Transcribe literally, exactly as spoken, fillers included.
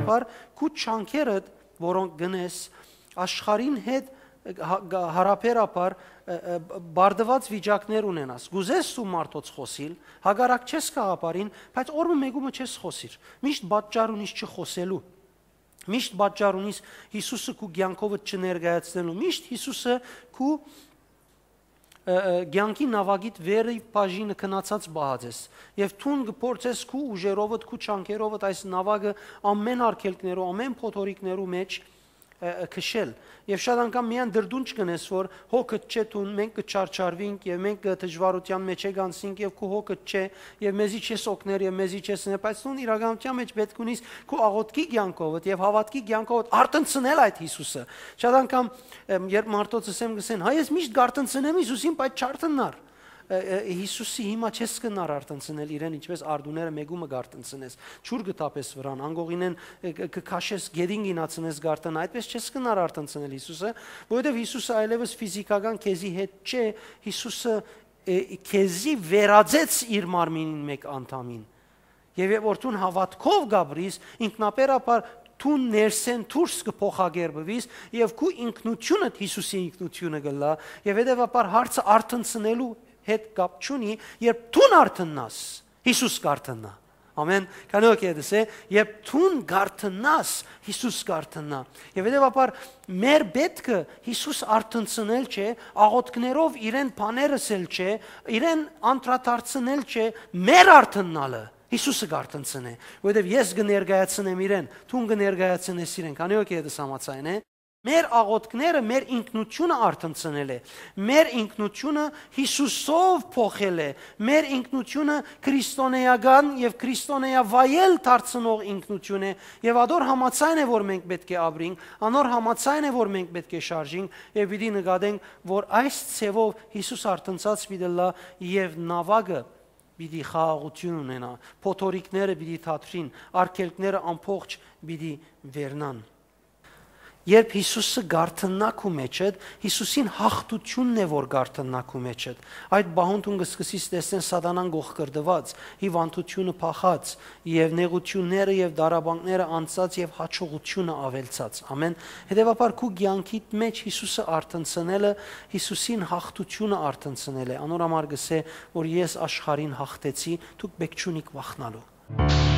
բար քու չանքերդ, որոնք գնես, աշխարհին հետ հա-, գա-, հարաբերաբար, ը, ը, բարդուած վիճակներ ունենաս։ Կուզես դու մարդոց խօսիլ, հակառակ չես գաղափարին, բայց օր մը մեկումը չես խօսիր։ Միշտ պատճառ ունիս չխօսելու։ Միշտ պատճառ ունիս Յիսուսը քու կեանքովդ չներկայացնելու։ Միշտ Յիսուսը քու, ը, ը, կեանքի նաւակիդ վերի բաժինը քնացած պահած ես։ Եւ դուն կը փորձես քու ուժերովդ, քու չանքերովդ այս նաւակը ամեն արգելքներու, ամեն փոթորիկներու մէջ, ը, ը, քշել։ Եւ շատ անգամ միայն դրդունջ կ'ընես, որ հոգդ չէ դուն, մենք կը չարչարուինք եւ մենք կը դժուարութեան մէջէ կ'անցնինք եւ քու հոգդ չէ եւ մեզի չես օգներ եւ մեզի չես ներ, բայց դուն իրականութեան մէջ պէտք ունիս քու աղօթքի կեանքովդ եւ հաւատքի կեանքովդ արթնցնել այդ Յիսուսը։ Շատ անգամ, ըմ, երբ մարդոց ըսեմ, կ'ըսեն, «Հա, ես միշտ կ'արթնցնեմ Յիսուսին, բայց չարթննար»։ Ը, ը, Յիսուսի հիմա չես կնար արթնցնել իրեն, ինչպես արդուները մեկումը կ'արթնցնես, ջուր կը թափես վրան, անկողինեն, ը, ը, կը քաշես, գետին կ'ինացնես, կ'արթնա, այդպես չես կնար արթնցնել Յիսուսը, որովհետեւ Յիսուսը այլեւս ֆիզիքական քեզի հետ չէ, Յիսուսը, ը, քեզի վերածեց իր մարմինին մէկ անդամին։ Եւ երբ որ դուն հաւատքով կ'ապրիս, ինքնաբերաբար դու ներսէն դուրս կը փոխակերպուիս եւ քու ինքնութիւնդ Յիսուսի ինքնութիւնը կ'ըլլայ եւ հետեւաբար հարցը արթնցնելու հետ կապ չունի, երբ դուն արթննաս, Յիսուս կ'արթննայ։ Ամեն, քանի որ կ'եդս է, երբ դուն կ'արթննաս, Յիսուս կ'արթննայ։ Եւ հետեւաբար մեր պէտքը Յիսուս արթնցնել չէ, աղօթքներով իրեն բաներ ըսել չէ, իրեն անդրադարձնել չէ, մեր արթննալը Յիսուսը կ'արթնցնէ, որովհետեւ ես կը ներկայացնեմ իրեն, դուն կը ներկայացնես իրեն, քանի որ կ'եդս համաձայն է։ Մեր աղօթքները մեր ինքնութիւնը արթնցնել է, մեր ինքնութիւնը Յիսուսով փոխել է, մեր ինքնութիւնը քրիստոնեական եւ քրիստոնեայ վայել դարձնող ինքնութիւն է եւ ադոր համաձայն է, որ մենք պէտք է ապրենք, անոր համաձայն է, որ մենք պէտք է շարժենք եւ պիտի նկատենք, որ այս ձևով Յիսուս արթնցած պիտի ըլլայ եւ նաւակը պիտի խաղաղութիւն ունենայ, փոթորիկները պիտի թատրին, արգելքները ամբողջ պիտի վերնան։ Երբ Յիսուսը կ'արթննայ քու մէջդ, Յիսուսին յաղթութիւնն է, որ կ'արթննայ քու մէջդ։ Այդ պահուն դուն կը սկսես տեսնել Սատանան կոխկռտուած, հիւանդութիւնը փախած, եւ նեղութիւնները եւ տառապանքները անցած եւ յաջողութիւնը աւելցած։ Ամեն։ Հետեւաբար քու կեանքիդ մէջ Յիսուսը արթնցնելը, Յիսուսին յաղթութիւնը արթնցնել է։ Անոր համար կ'ըսէ, որ ես աշխարհին յաղթեցի, դուք պէտք չունիք վախնալու։